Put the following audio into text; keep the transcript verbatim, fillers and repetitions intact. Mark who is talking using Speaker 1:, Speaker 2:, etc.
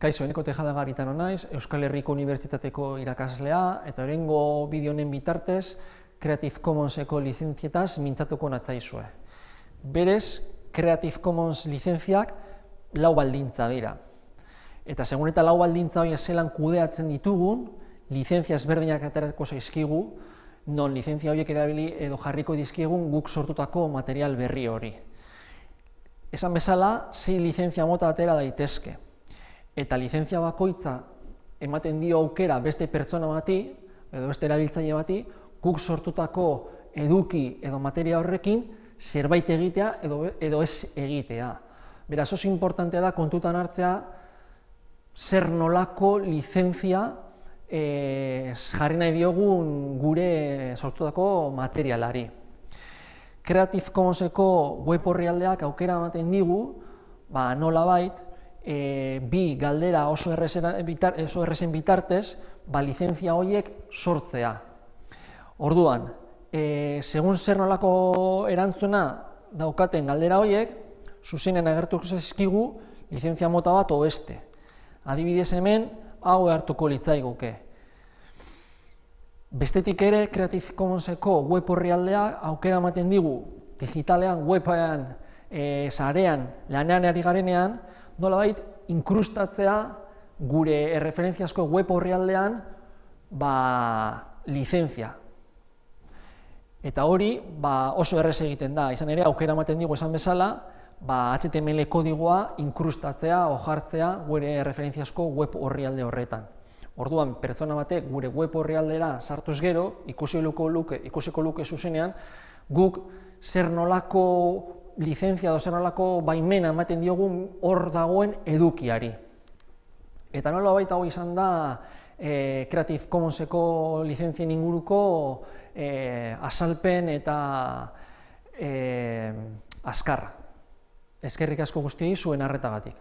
Speaker 1: Kaixo, Eneko Tejada Garitano naiz, Euskal Herriko Unibertsitateko irakaslea, eta oraingo bideo honen bitartez Creative Commonseko lizentzietaz mintzatuko natzaizue. Berez, Creative Commons lizentziak lau baldintza dira. Eta segun eta lau baldintza horiek zelan kudeatzen ditugun, lizentzia ezberdinak aterako zaizkigu, non lizentzia horiek erabili edo jarriko dizkigun guk sortutako material berri hori. Esan bezala, sei lizentzia mota atera daitezke. Eta lizentzia bakoitza ematen dio aukera beste pertsona bati, edo beste erabiltzaile bati, guk sortutako eduki edo materia horrekin zerbait egitea edo, edo ez egitea. Beraz, oso importante da kontutan hartzea zer nolako lizentzia e, jarri nahi diogun gure sortutako materialari. Creative Commonseko web orrialdeak aukera ematen digu, ba, nolabait, E, bi galdera oso errezen bitar, bitartez, ba, lizentzia horiek sortzea. Orduan, e, segun zer nolako erantzuna daukaten galdera horiek, zuzenean agertuko zaizkigu lizentzia mota bat o beste. Adibidez hemen, hau hartuko litzaiguke. Bestetik ere, Creative Commonseko web orrialdea aukera ematen digu digitalean, webean, e, sarean, lanean ari garenean, nolabait inkrustatzea gure erreferentziazko web orrialdean ba, lizentzia. Eta hori ba, oso errez egiten da, izan ere aukera ematen digu esan bezala, ba, H T M L kodigoa inkrustatzea o jartzea gure erreferentziazko web orrialde horretan. Orduan, pertsona batek gure web orrialdera sartuz gero, ikusiko luke, ikusiko luke zuzenean, guk zer nolako lizentzia edo zer nolako baimena ematen diogun hor dagoen edukiari. Eta nolabait hau izan da e, Creative Commonseko lizentzien inguruko e, azalpen eta e, azkarra. Eskerrik asko guztiei zuen arretagatik.